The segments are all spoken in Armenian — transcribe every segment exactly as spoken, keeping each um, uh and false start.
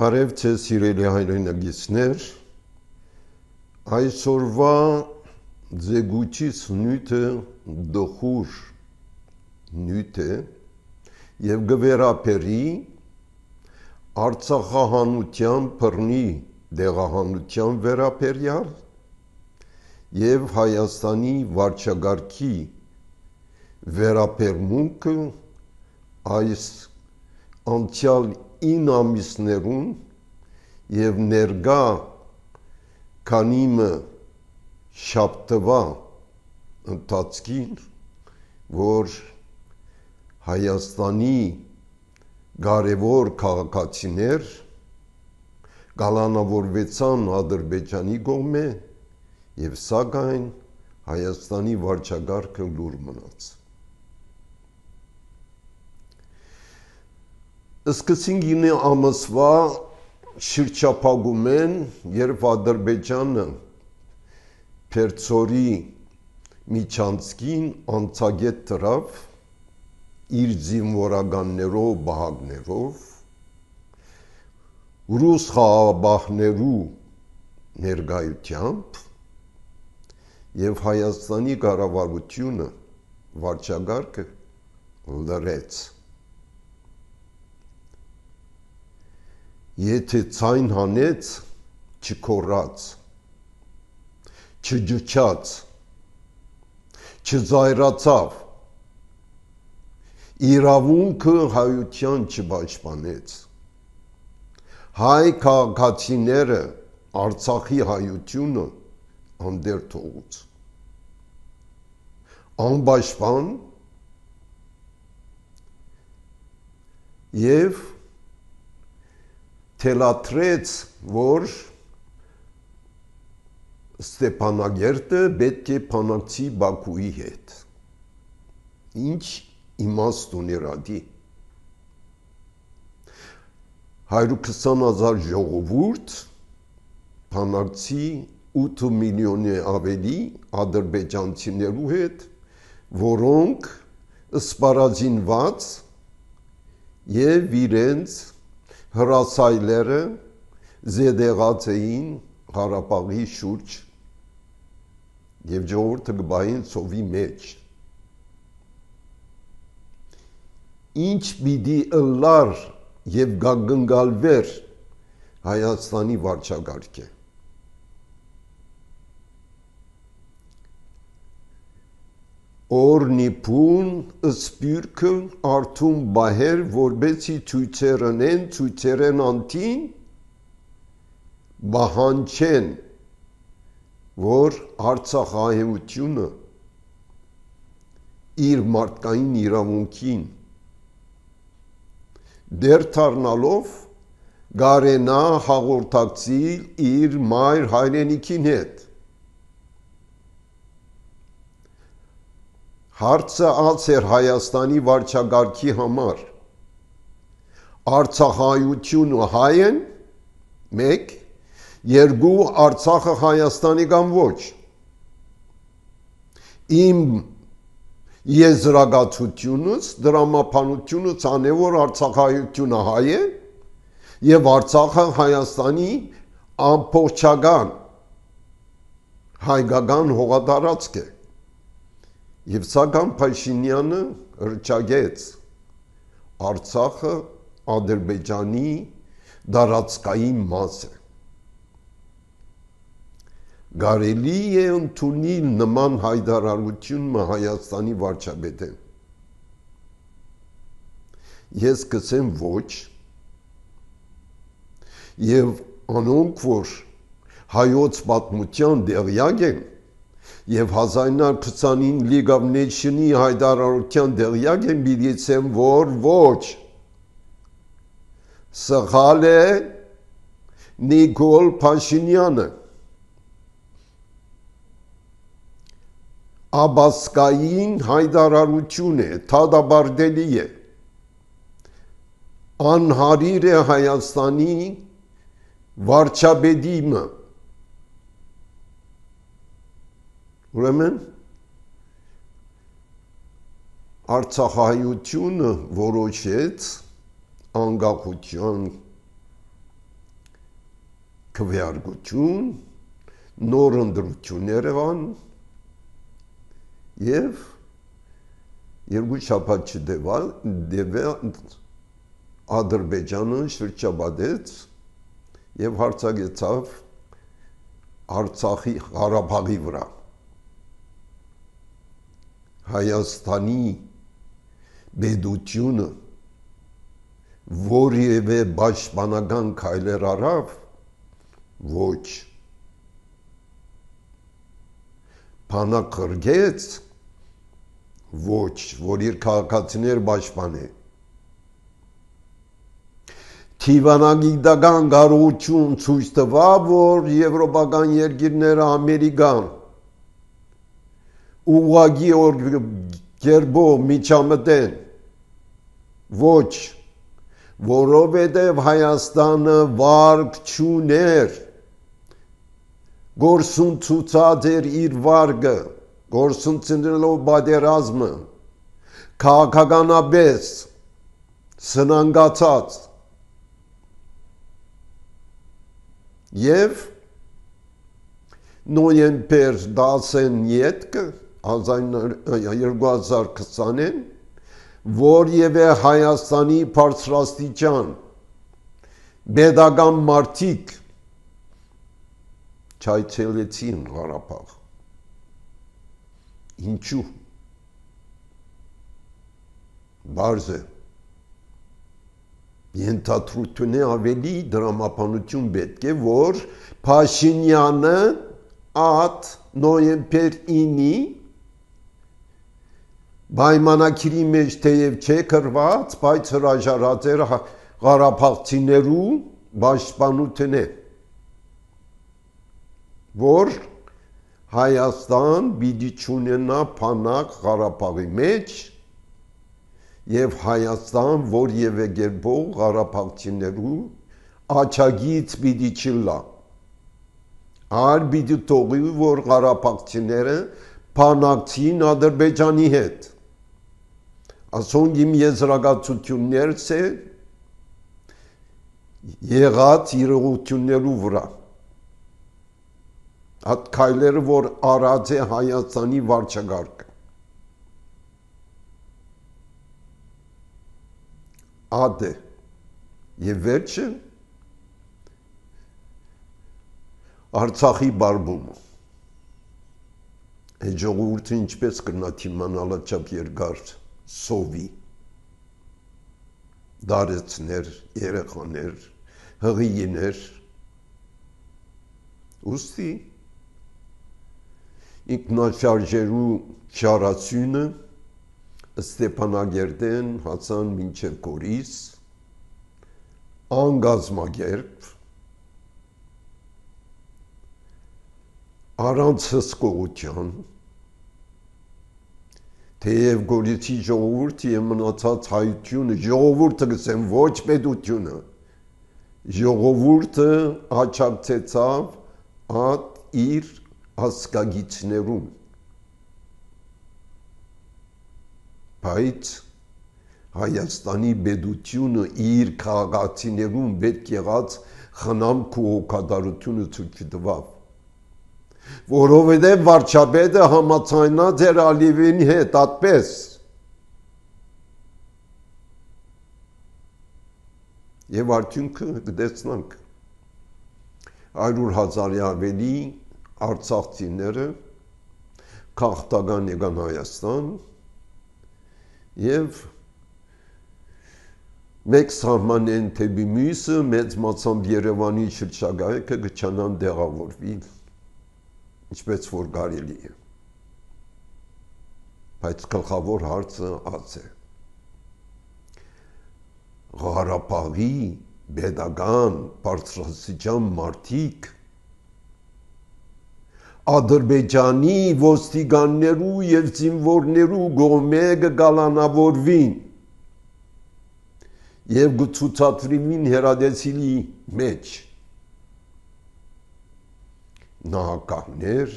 Բարև ձեզ սիրելի հայրենագիտներ, այսօրվա ձեգուչիս նյութը դխուր նյութ է և գվերապերի Արցախահանության բռնի դեղահանության վերաբերյալ և Հայաստանի վարչագահի վերաբերմունքը այս անցյալ ինը ամիսներուն և ներկա քանիմը շաբթվա ընթացքին, որ Հայաստանի կարևոր քաղաքացիներ կալանավորվեցան Ադրբեջանի կողմէ և սակայն Հայաստանի վարչագահը լուռ մնաց։ Սկսենք ինը ամսվա շրջափակում են, երբ Ադրբեջանը Փերձորի միջանցքին անցագետ դրավ իր զինվորականներով, բահակներով, ռուս խաղաղապահներու ներկայությամբ և Հայաստանի կառավարությունը վարչագահը լռեց։ Եթե ձայն հանեց, չգոռաց, չջջաց, չձայրացավ, իրավունքը հայության չպաշտպանեց, հայ քաղաքացիները Արցախի հայությունը անդեր թողուց, անպաշտպան և թելադրեց, որ Ստեփանագերտը պետք է բանակցի Բաքուի հետ։ Ինչ իմաստ ուներ ադի։ հարյուր քսան հազար ժողովուրդ բանակցի ութ միլիոնի ավելի ադրբեջանցիներու հետ, որոնք սպառազինված և իրենց հրասայլերը զետեղած էին Ղարաբաղի շուրջ և ժողովուրդը կբային ծովի մեջ։ Ինչ պիտի ըլլար և գագնգալվեր Հայաստանի վարչագահը։ Օրնիփուն սպյուրքը արթուն բահեր, որբեցի ցույցերնեն, ցույցերեն անտին, բահանչեն, որ Արցախահայությունը իր մարդկային իրավունքին դեր դառնալով կարենա հաղորդակցիլ իր մայր հայրենիքին հետ։ Հարցը ած էր Հայաստանի վարչագահի համար, Արցախահայությունը հայ են, մեկ, երկու, Արցախը Հայաստանի կամ ոչ։ Իմ եզրակացությունս, դրամապանությունս անե, որ Արցախահայությունը հայ է և Արցախը Հայաստանի ամբողջական հայկական հողատարածք է։ Եվ սակայն Փաշինյանը հռչակեց Արցախը Ադրբեջանի տարածքային մաս է։ Կարելի է ընդունել նման հայտարարությունը Հայաստանի վարչապետեն։ Ես կսեմ ոչ, և անոնք, որ հայոց պատմության տեղյակ են, և հազար ինը հարյուր քսանինը League of Nations-ի հայտարարության տեղյակ են, պիտի ասեմ, որ ոչ, սխալ է Նիկոլ Փաշինյանը, աբասկային հայտարարություն է, դատապարտելի է, անհարիր է Հայաստանի վարչապետի։ Ուրեմն Արցախահայությունը որոշեց անկախության քվեարկություն, նոր ընտրություններ եղան եւ երկու շաբաթ չդեվա Ադրբեջանը շրջապատեց եւ հարձակեցավ Արցախի Ղարաբաղի վրա Հայաստանի բեդությունը որևէ պաշտպանական քայլեր արավ ոչ փանակրգեց ոչ որ իր քաղաքացիներ պաշտպանե Թիվանագիտական կարողություն ցույց տվավ, որ եվրոպական երկիրները Ամերիկան ուղղակի կերպով միջամտեն ոչ որովհետև Հայաստանը վարկ չուներ գործուն ցուցած էր իր վարկը գործունեելով պատերազմը քաղաքականապես սնանկացած Եվ նոյեմբեր տասնյոթը երկու հազար քսանին որևէ Հայաստանի բարձրաստիճան pedagogan մարդիկ չայցելեցին Ղարաբաղ ինչու բարձ է Ենթադրությունը ավելի դրամապանություն պետք է, որ Փաշինյանը at նոյեմբեր ինը պայմանագիրի մեջ թեև չէ գրված, բայց հրաժարած էր Ղարաբաղցիներու պաշտպանությունը, որ Հայաստան պիտի չունենա բանակ Ղարաբաղի մեջ Եվ Հայաստան որևէ կերպով Ղարաբաղցիներու աչագից պիտի չլա։ Այլ պիտի թողի, որ Ղարաբաղցիները բանակցին Ադրբեջանի հետ։ Ասոնք իմ եզրակացություններս է եղած իրողություններու վրա։ Այդ քայլերը, որ արած է Հայաստանի վարչակարգը։ Ադե եւ վերջը Արցախի բարբումը այդ ժողովուրդը ինչպես կնա թիմանալ չափ երկար սովի դարեցներ երեխաներ հղիներ ուստի ինքնաշարժերու շարացյունը Ստեփանագերդեն հացան մինչև Գորիս անգազմագերբ առանց հսկողության թեև Գորիսի ժողովուրդը եւ մնացած հայությունը ժողովուրդը գսեն ոչ պետությունը ժողովուրդը աչակցեցավ at իր հասկագիցներուն Բայց Հայաստանի բեդությունը իր քաղաքացիներուն պետք եղած խնամք ու հոգատարությունը ցույց տվավ որովհետև վարչապետը համաձայնած էր Ալիևի հետ այդպես եւ արդյունքը կտեսնանք հարյուր հազարի ավելի արցախցիները քաղաքական եկան Հայաստան Եվ մեկ սահմանեն թեպի մյուսը մեծ մասամբ Երևանի շրջակայքը գչանան դեղավորվի, ինչպես որ կարելի է։ Բայց գլխավոր հարցը այս է։ Ղարաբաղի pedagogan բարձրաստիճան մարդիկ Ադրբեջանի ոստիկաններու եւ զինվորներու գոմե գալանավորվին եւ գցուցածրին հերադեսիլի մեջ նահանգներ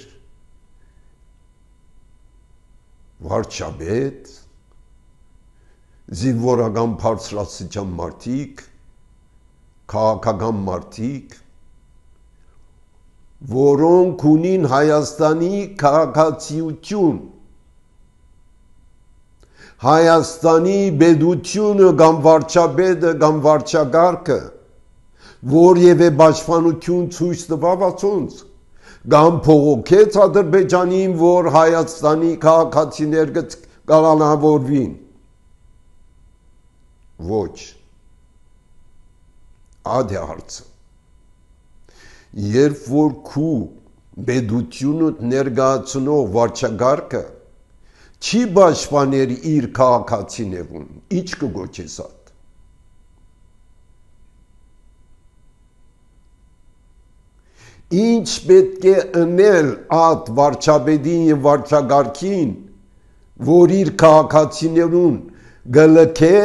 վարչապետ զինվորական բարձրաստիճան մարդիկ քաղաքական մարդիկ որոնք ունին Հայաստանի քաղաքացիություն, Հայաստանի պետությունը կամ վարչապետը կամ վարչագարկը, որևէ պաշտպանություն ցույց տվավացոնց, կամ փողոքեց Ադրբեջանին, որ Հայաստանի քաղաքացիներ կկանանավորվին։ Ոչ։ Ադե հարցը։ Երբ որ քու պետությունը ներկայացնող վարչագարկը չի պաշտպաներ իր քաղաքացիներուն, ինչ կգոչես այդ։ Ինչ պետք է ընել այդ վարչապետին եւ վարչագարկին, որ իր քաղաքացիներուն գլքե,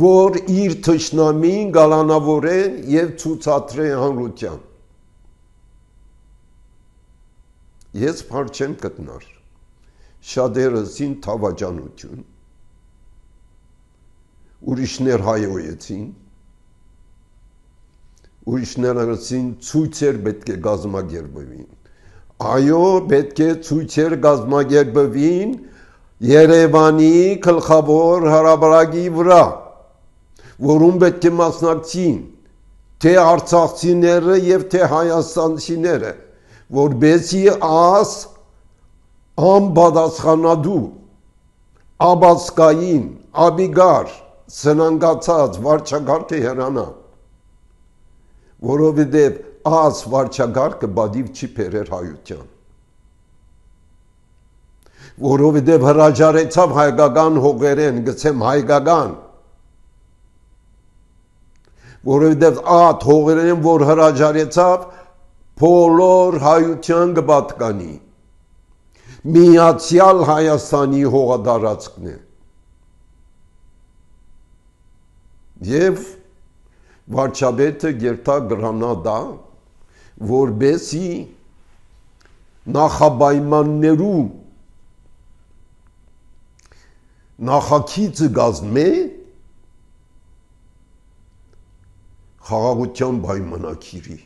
որ իր թշնամին գալանավորե եւ ցուցադրե հանրության։ Ես բար չեմ գտնար։ Շատերսին թավաճանություն, ուրիշներ հայոյեցին, ուրիշներսին ցույցեր պետք է գազմագերբվին։ Այո, պետք է ցույցեր գազմագերբվին Երևանի գլխավոր հրապարակի վրա, որում պետք է մասնակցին թե արցախցիները եւ թե հայաստանցիները, որբեսի աս անպատասխանատու, աբասկային, աբիգար, սնանգացած վարչագարկը հեռանա, որովհետև աս վարչագարկը բադիվ չի բերեր հայության, որովհետև հրաժարեցավ հայկական հողերեն, գցեմ հայկական, որովհետև այդ հողերեն, որ հրաժարեցավ, բոլոր հայության կպատկանի, Միացյալ Հայաստանի հողատարածքն է։ Եվ վարչապետը գերտա գրանադա, որբեսի նախապայմաններու նախագիծը կազմե խաղաղության պայմանագիրի։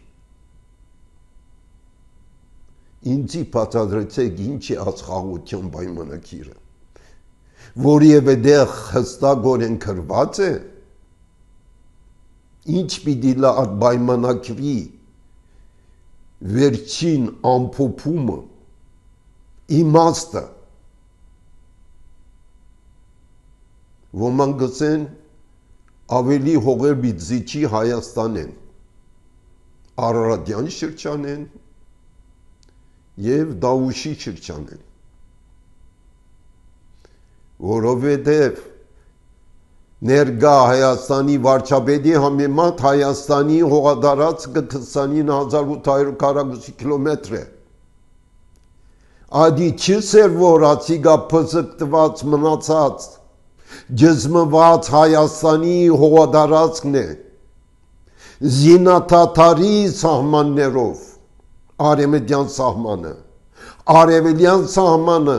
Ինձի բացատրեցեք ինչ է այս խաղաղության պայմանագիրը, որևէ դեղ հստակորեն գրված է, ինչ պիտի լա այդ պայմանագրի վերջին ամփոփումը, իմաստը, ոմանք գսեն ավելի հողեր պիտի զիջի Հայաստան են, Արարատյան շրջան են, և Դավուշի շրջան են, որովհետև ներկա Հայաստանի վարչապետի համեմատ Հայաստանի հողատարածքը քսանինը հազար ութ հարյուր քառակուսի կիլոմետր է։ Ադի չսեր, որ ացիգա փզկտված մնացած ջզմված Հայաստանի հողատարածքն է, զինաթաթարի սահմաններով, արևմտյան սահմանը, արևելյան սահմանը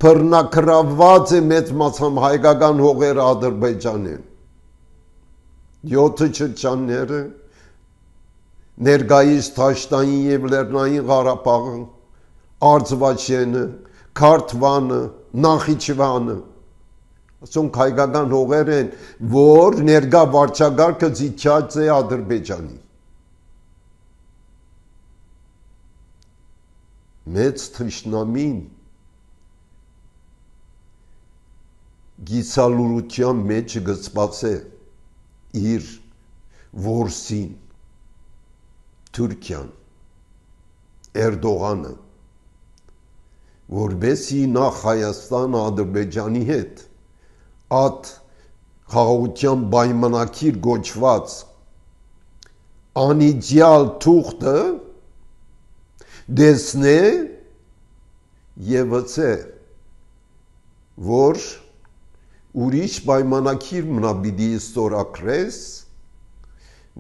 բռնակրաված է մեծ մասամբ հայկական հողերը Ադրբեջանին։ Յոթը շրջանները, ներկայիս Դաշտային և Լեռնային Ղարաբաղը, Արցվաշենը, Քարթվանը, Նախիջևանը, ասոնք հայկական հողեր են, որ ներկա վարչագարկը զիջած է Ադրբեջանի։ Մեծ թշնամին գիսալուրության մեջ գծված է իր որսին, Թուրքիան, Էրդողանը, որբեսի նախ Հայաստանը Ադրբեջանի հետ այդ խաղաղության պայմանագիր գոչված անիդեալ թուղթը դեսնե եւ վծե, որ ուրիշ պայմանագիր մնա պիտի ստորագրես,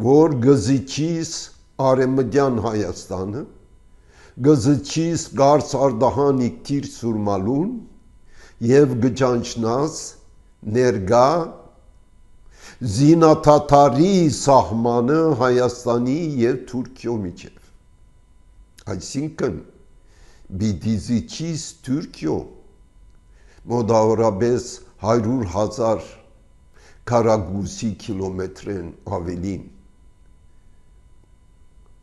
որ գզիչիս արևմտյան Հայաստանը, գզիչիս Գարս Արդահանի Կիր Սուրմալուն եւ գճանչնաս ներկա զինաթաթարի սահմանը Հայաստանի եւ Թուրքիո միջև։ Այսինքն Բիդիզիչից Թուրքիո մոտավորապես հարյուր հազար քառակուսի կիլոմետրեն ավելին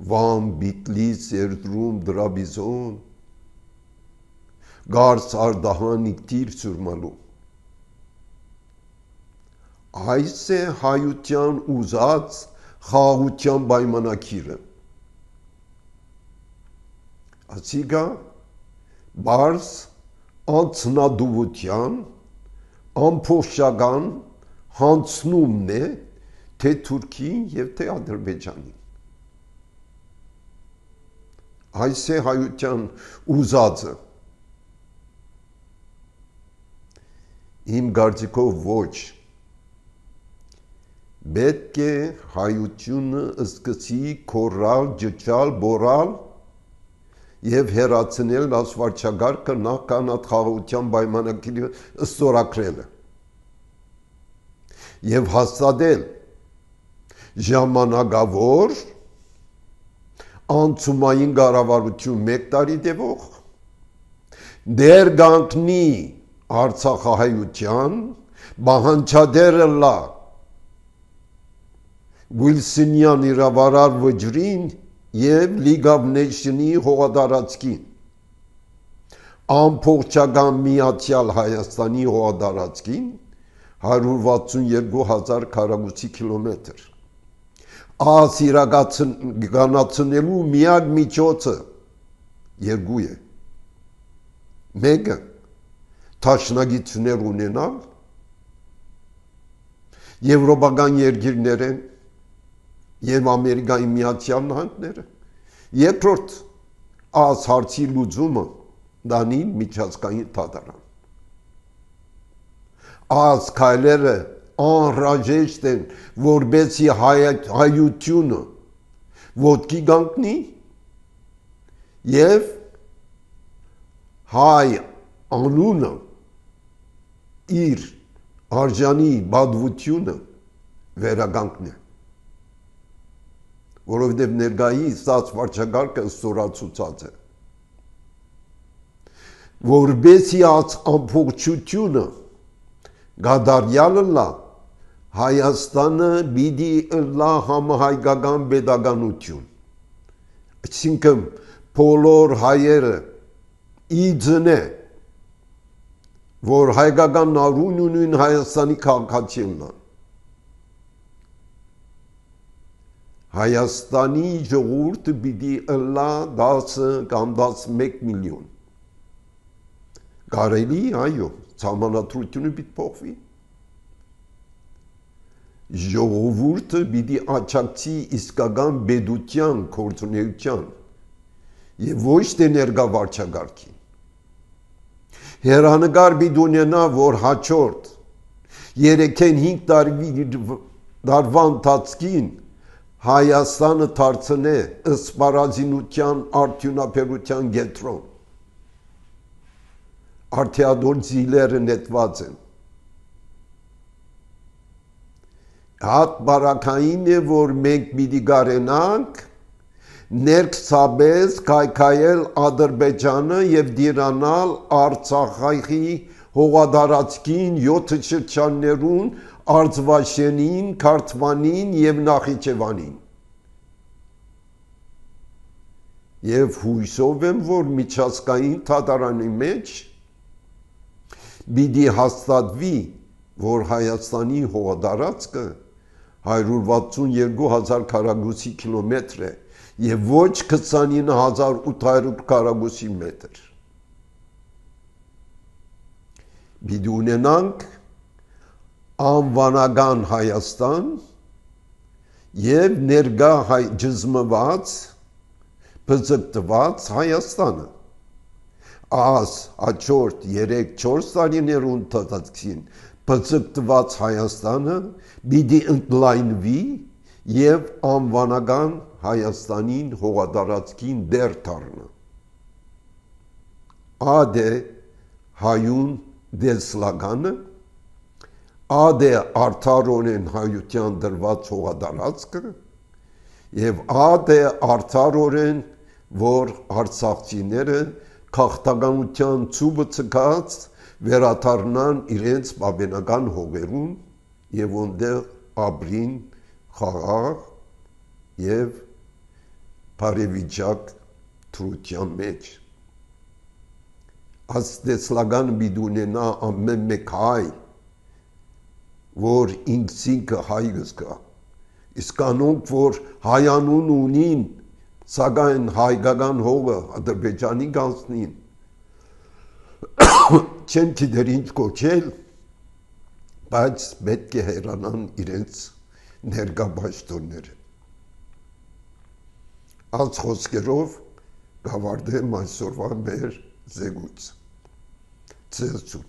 Վան, Բիտլից, Էրդրում, Դրաբիզոն, Գարս, Արդահան, Իգտիր, Սուրմալու։ Այս է հայության ուզած խաղաղության պայմանակիրը։ Ասիկա բարս անցնադուվության ամփոփշական հանցնումն է թե Թուրքիին եւ թե Ադրբեջանին։ Այս է հայության ուզածը։ Իմ կարծիքով ոչ։ Պետք է հայությունը սկսի քորալ, ջճալ, բորալ եւ հերացնել ասվարչագարկը նախքան խաղաղության պայմանագիրը ստորագրելը եւ հաստատել ժամանակավոր անցումային կառավարություն մեկ տարի տևող դեր գանքնի Արցախահայության բանջադերը լա Վիլսոնյան իրավարար վճրին եւ League of Nations-ի հողատարածքին ամփոփչական միացյալ Հայաստանի հողատարածքին հարյուր վաթսունեքու հազար քառակուսի կիլոմետր Ահա իրականացնելու միակ միջոցը երկու է։ Մեկը դաշնակիցներ ունենալ եվրոպական երկիրներ են եւ Ամերիկայի Միացյալ Նահանգները։ Երկրորդ այս հարցի լուծումը դանի միջազգային դատարան։ Այս քայլերը անհրաժեշտ են, որբեսի հայությունը ոտքի կանգնի եւ հայ անունը իր արժանի բադվությունը վերականգնի, որովհետեւ ներկայիս այս վարչագարկը ստորացուցած է, որբեսի այս ամբողջությունը գադարյալը լա Հայաստանը պիտի լա համահայկական պետականություն։ Այսինքն բոլոր հայերը իձնե, որ հայկական նարուն ունին Հայաստանի քաղաքացին լան։ Հայաստանի ժողովուրդը պիտի լա դասը կամ տասնմեկ միլիոն։ Կարելի, այո, սահմանադրությունը պիտի փոխվի։ Ժողովուրդը պիտի աջակցի իսկական պետության գործունեության եւ ոչ թե ներկա վարչագարկին։ Հեռանկար պիտի ունենա, որ հաջորդ երեքեն հինգ տարվա ընթացքին Հայաստանը դարձնե սպառազինության արդյունաբերության կենտրոն։ Արդյադոր ձիլերը նետված են։ Հատ բարակային է, որ մենք պիտի գարենանք ներքսաբես կայքայել Ադրբեջանը եւ դիրանալ Արցախի հողատարածքին յոթ շրջաններուն Արցվաշենին, Քարթվանին եւ Նախիջևանին։ Եվ հույսով եմ, որ միջազգային դատարանի մեջ պիտի հաստատվի, որ Հայաստանի հողատարածքը հարյուր վաթսունեքու հազար քառակուսի կիլոմետր է եւ ոչ քսանինը հազար ութ հարյուր քառակուսի մետր։ Պիտի ունենանք անվանական Հայաստան եւ ներկա հայ ջզմված բզկտված Հայաստանը։ Աս հաջորդ երեք չորս տարիներու ընթացքին բզկտված Հայաստանը պիտի ընդլայնվի եւ անվանական Հայաստանին հողատարածքին դեր դառնա։ Ադե հայուն դեսլականը, ադե արդարորեն հայության դրված հողատարածքը եւ ադե արդարորեն որ արցախցիները քաղաքականության ցուբը ցկած վերաթարնան իրենց բաբենական հողերուն եւ ոնդեղ ապրին խաղաղ եւ բարեվիճակ թրության մեջ աստեցլական բիդունենա ամեն մեկ հայ որ ինքսինքը հայրս կա իսկ կանոնք որ հայանուն ունին սակայն հայկական հողը ադրբեջանի գանցնին չեն գիտեր ինչ կոչել բայց պետք է հեռանան իրենց ներկա պաշտոնները այս խոսքերով կավարտեմ այսօրվա մեր զեկույցը Ցելսու